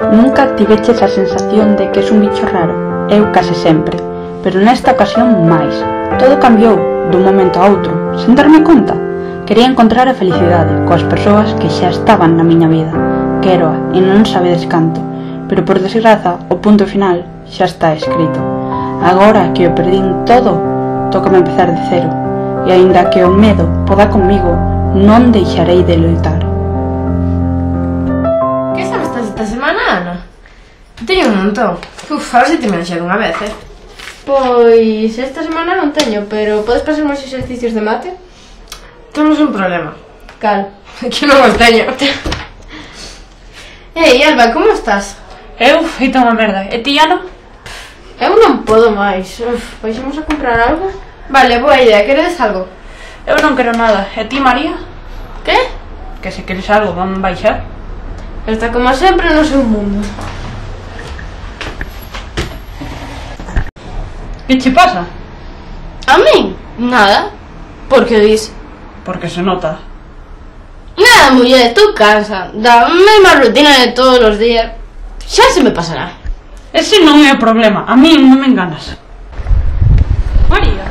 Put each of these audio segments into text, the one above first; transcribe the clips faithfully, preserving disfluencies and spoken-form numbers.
Nunca tiveches a sensación de que es un bicho raro? Eu case sempre, pero nesta ocasión máis. Todo cambiou dun momento a outro, sen darme conta. Quería encontrar a felicidade coas persoas que xa estaban na miña vida. Quéroa e non sabedes canto, pero por desgraza o punto final xa está escrito. Agora que o perdín todo, tócame empezar de cero, e aínda que o medo poda comigo, non deixarei de loitar. Que sabes esta semana, Ana? Teño un montón. Uf, a ver se te me enxedo unha vez, eh? Pois esta semana non teño, pero podes pasar máis exercicios de mate? Temos un problema. Cal? Que non os teño. Ei, Alba, como estás? Eu feito unha merda, e ti, Ana? Eu non podo máis. Uf, Vaixamos a comprar algo? Vale, boa idea, queredes algo? Eu non quero nada, e ti, María? Que? Que se queres algo, van baixar. Está como sempre no seu mundo. Que che pasa? A min? Nada. Por que dis? Porque se nota. Nada, muller, estou cansa da mesma rutina de todos os días. Xa se me pasará. Ese non é o problema, a mí non me enganas. María,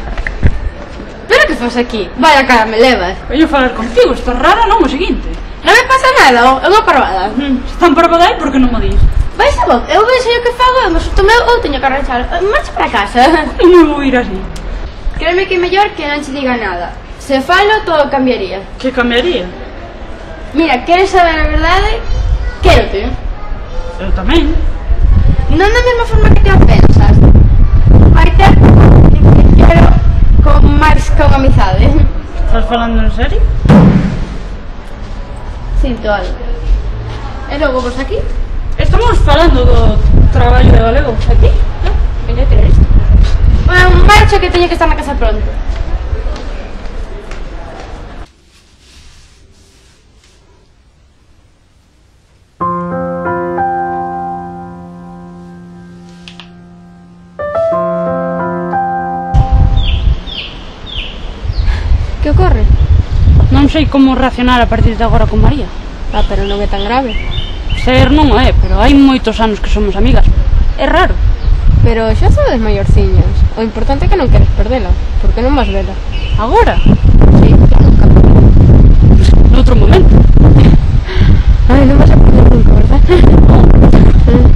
Pero que faz aquí? Vaya cara me levas. veño falar contigo, estás rara, non o seguinte. Non me pasa nada, é unha parvada. Se están parvada aí, por que non mo dis? Vais a vos, eu vexo o que fago, eu me susto meu ou teño que arranxar. Marcha para casa. Non me vou ir así. Créeme que é mellor que non che diga nada. Se falo, todo cambiaría. Que cambiaría? Mira, queres saber a verdade? Quérote. Eu tamén. Non da mesma forma que te a pensas. Vai ter que te quero con máis que unha amizade. Estás falando en serio? Sinto algo. E logo vos aquí? Estamos falando do traballo de galego. Aquí? Non? Veña a tener isto. Bueno, marcho que teño que estar na casa pronto. Que ocorre? Non sei como reaccionar a partir de agora con María. Ah, pero non é tan grave. Ser non o é, pero hai moitos anos que somos amigas. É raro. Pero xa sodes maiorciñas. O importante é que non queres perdela. Por que non vas vela? Agora? Sí, claro, capaz. Noutro momento. Ai, non vas a perder nunca, verdad? Mm.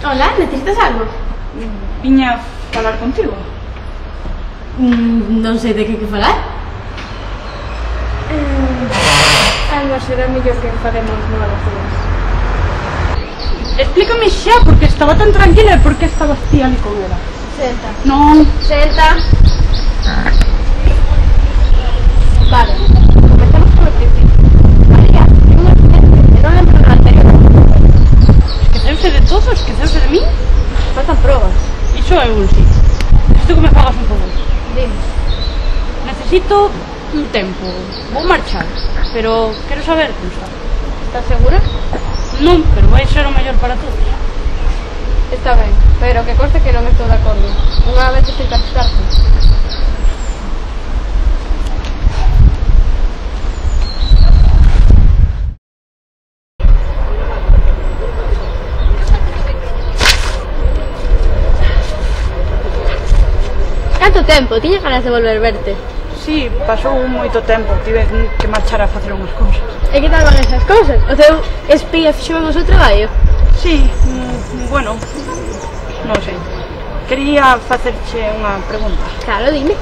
Hola, necesitas algo? Viña a falar contigo. Mm, non sei de que que falar. Alba, será mellor que faremos novas días. Explícame xa, porque estaba tan tranquila e por que estabas ti ali con ela. Senta. Non. Senta. Vale, comenzamos por o principio. María, ten un accidente e non lembro do anterior. Esqueceuse de todo, esqueceuse de mí. Faltan probas. Iso é un sí. Necesito que me fagas un favor. Dime. Necesito un tempo. Vou marchar, pero quero saber como está. Estás segura? Non, pero vai ser o mellor para todos. Está ben, pero que conste que non estou de acordo. Unha vez estou casarte. Canto tempo? Tiña ganas de volver verte. Sí, pasou moito tempo, tive que marchar a facer unhas cousas. E que tal van esas cousas? O teu espía fixo ben o seu traballo? Sí, mm, bueno, non sei. Quería facerche unha pregunta. Claro, dime.